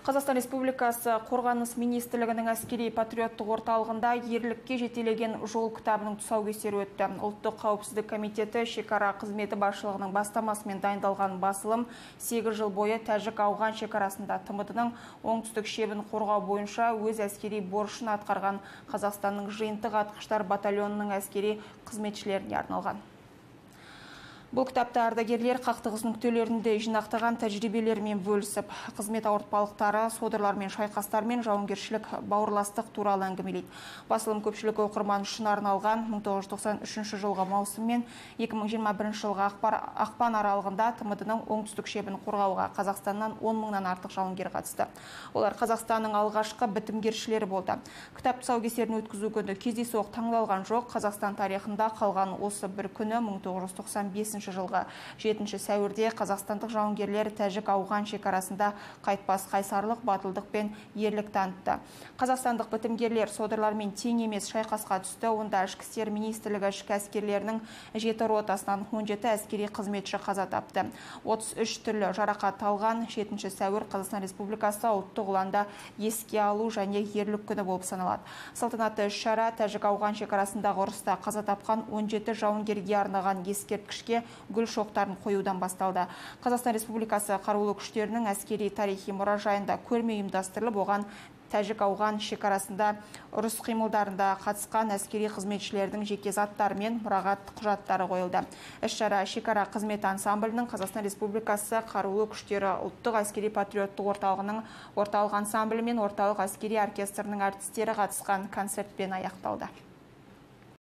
Қазақстан Республикасы Қорғаныс министрлігінің әскери патриоттық орталығында ерлікке жетелеген жол кітабының тұсаукесері өтті. Ұлттық қауіпсіздік комитеті шекара қызметі басшылығының бастамасымен дайындалған басылым 8 жыл бойы Тәжік-Ауған шекарасында ТМТ-ның оңтүстік шебін қорғау бойынша өз әскери борышын атқарған Қазақстанның жиынтық атқыштар батальонының әскери қызметшілеріне арналған. Бұл кітапта ардагерлер қақтығыс нүктелерінде жинақтаған тәжірибелермен бөлісіп, қызмет ауыртпалықтары, содырлармен, шайқастармен жауынгершілік бауырластық туралы әңгімелейді. Басылым көпшілік оқырман үшін арналған 1993 жылғы маусым мен 2021 жылғы ақпан аралығында ТМТ-ның оңтүстік шебін қорғауға Қазақстаннан 10 мыңнан артық жауынгер қатысты. Олар Қазақстанның алғашқы бітімгершілері болды. Кітап тұсаукесерін өткізу күні кездейсоқ таңдалған жоқ. Қазақстан тарихында қалған осы бір күні 1995 жылғы 7 сәуірде қазақстандық жауынгерлер Тәжік-Ауған шекарасында қайтпас қайсарлық, батылдық пен ерлік танытты. Қазақстандық бітімгерлер содырлармен тең емес шайқасқа түсті. Онда ішкі істер министрлігі ішкі әскерлерінің 7 ротасынан 17 әскери қызметші қаза тапты. 33 түрлі жарақат алған. 7 сәуір Қазақстан Республикасы ұлттық ұланда еске алу және ерлік күні болып саналады. Салтанатты іс-шара Тәжік-Ауған шекарасындағы ұрыста қаза тапқан 17 жауынгерге арнаған ескерткішке гүл шоқтарын қоюдан басталды. Қазақстан Республикасы қарулы күштерінің әскери тарихи мұражайында көрме ұйымдастырылып, оған Тәжік-Ауған шекарасында ұрыс қимылдарында қатысқан әскери қызметшілердің жеке заттары мен мұрағат құжаттары қойылды. Іс-шара шекара қызметі ансамблінің, Қазақстан Республикасы қарулы күштері ұлттық әскери патриоттық орталығының орталық ансамблі мен орталық әскери оркестрінің әртістері қатысқан концертпен аяқталды.